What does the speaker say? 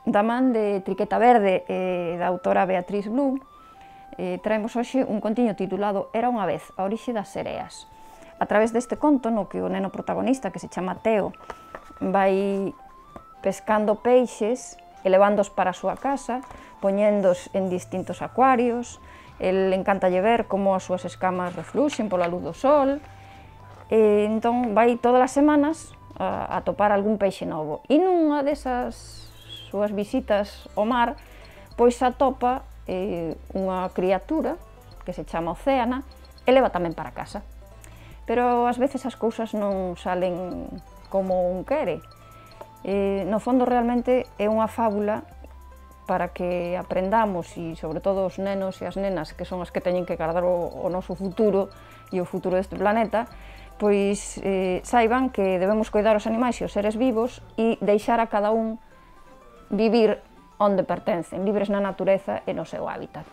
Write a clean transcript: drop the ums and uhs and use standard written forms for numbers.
Da man de Triqueta Verde e da autora Beatriz Blum, traemos hoxe un contiño titulado Era unha vez, a orixe das sereas. A través deste conto, no que o neno protagonista, que se chama Teo, vai pescando peixes e levándoos para a súa casa, poñéndos en distintos acuarios. El encantalle ver como as súas escamas refluxen pola luz do sol, e entón vai todas as semanas a topar algún peixe novo. E nunha desas súas visitas ao mar, pois atopa unha criatura que se chama Océana e leva tamén para casa. Pero ás veces as cousas non salen como un quere. No fondo realmente é unha fábula para que aprendamos, e sobre todo os nenos e as nenas, que son as que teñen que guardar o noso futuro e o futuro deste planeta, pois saiban que debemos coidar os animais e os seres vivos e deixar a cada un vivir onde pertencen, libres na natureza e no seu hábitat.